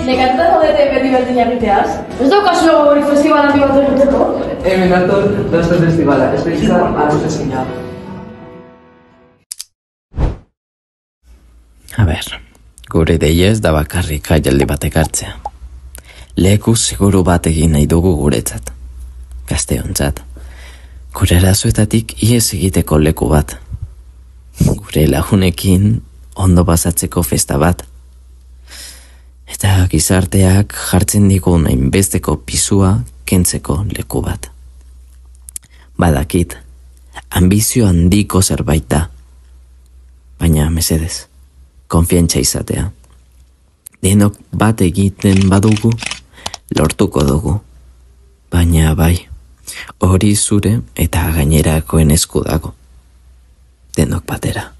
Nekatuta zaudete beti berdin egiteaz? Ez daukazu gogorik festival handi bat egiteko? Hemen dator, dauzko festivala, espeizka arrozezina. A ber, gure deia ez da bakarrik jaialdi batek hartzea. Leku seguru bat egin nahi dugu guretzat. Gazteontzat. Gure arazoetatik ihes egiteko leku bat. Gure lagunekin ondo pasatzeko festa bat. Eta gizarteak jartzen digun hainbesteko pisua kentzeko leku bat. Badakit, ambizio handiko zerbait da. Baina mesedez, konfiantza izatea. Denok bat egiten badugu, lortuko dugu. Baina bai, hori zure eta gainerakoen esku dago. Denok batera.